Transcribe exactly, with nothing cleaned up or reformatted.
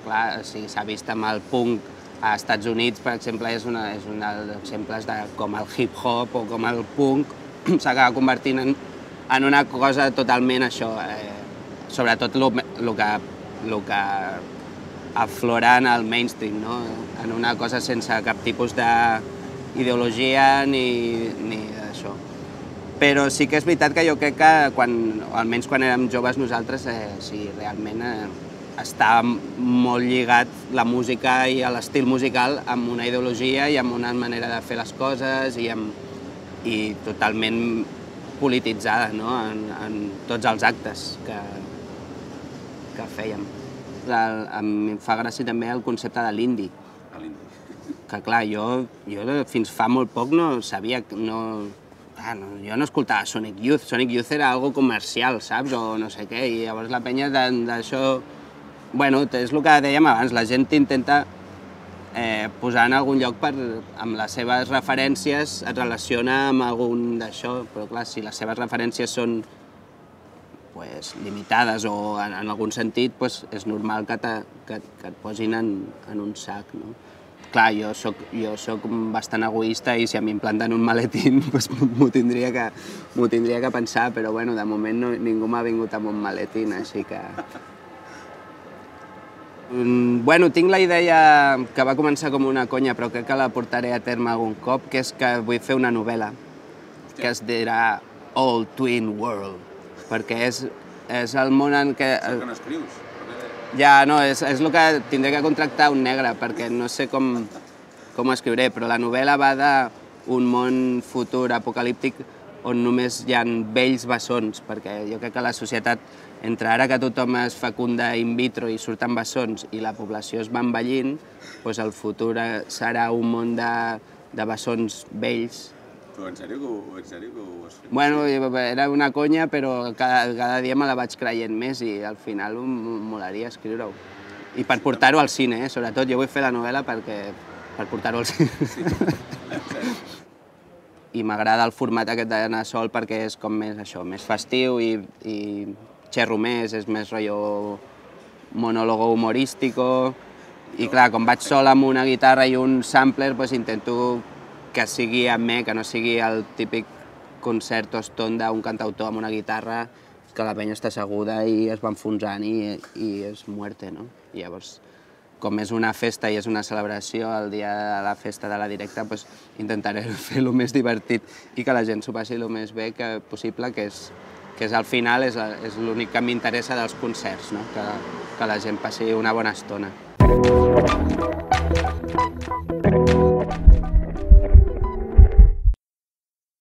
Clar, s'ha vist amb el punk a Estats Units, per exemple, és un dels exemples de com el hip-hop o com el punk s'acaba convertint en una cosa totalment això, sobretot el que aflora en el mainstream, en una cosa sense cap tipus d'ideologia ni d'això. Però sí que és veritat que jo crec que, almenys quan érem joves nosaltres, sí, realment està molt lligat la música i l'estil musical amb una ideologia i amb una manera de fer les coses i totalment polititzada en tots els actes que fèiem. Em fa gràcia també el concepte de l'indie. Que clar, jo fins fa molt poc no sabia, no... Jo no escoltava Sonic Youth, Sonic Youth era algo comercial, saps? O no sé què, i llavors la penya d'això... Bueno, és el que dèiem abans, la gent t'intenta posar en algun lloc amb les seves referències, et relaciona amb algun d'això, però clar, si les seves referències són limitades o en algun sentit, és normal que et posin en un sac. Clar, jo soc bastant egoista i si a mi em planten un maletín m'ho tindria que pensar, però de moment ningú m'ha vingut amb un maletín, així que... Bueno, tinc la idea que va començar com una conya, però crec que la portaré a terme algun cop, que és que vull fer una novel·la que es dirà All Twin World, perquè és el món en què... Això que no escrius? Ja, no, és el que tindré que contractar un negre, perquè no sé com ho escriuré, però la novel·la va d'un món futur apocalíptic on només hi ha vells bessons, perquè jo crec que la societat, entre ara que tothom es fecunda in vitro i surten bessons i la població es va envellint, doncs el futur serà un món de bessons vells. Però en sèrio que ho has fet? Bueno, era una conya, però cada dia me la vaig creient més i al final em molaria escriure-ho. I per portar-ho al cine, sobretot. Jo vull fer la novel·la per portar-ho al cine. I m'agrada el format aquest d'anar sol perquè és com més això, més festiu i xerro més, és més rotllo monòlogo humorístico. I clar, com vaig sol amb una guitarra i un sampler, intento que sigui amb mi, que no sigui el típic concert o eston d'un cantautor amb una guitarra que la penya està asseguda i es va enfonsant i és muerte, no? I llavors, com és una festa i és una celebració, el dia de la festa de la directa, intentaré fer-lo més divertit i que la gent s'ho passi el més bé possible, que és al final és l'únic que m'interessa dels concerts, que la gent passi una bona estona.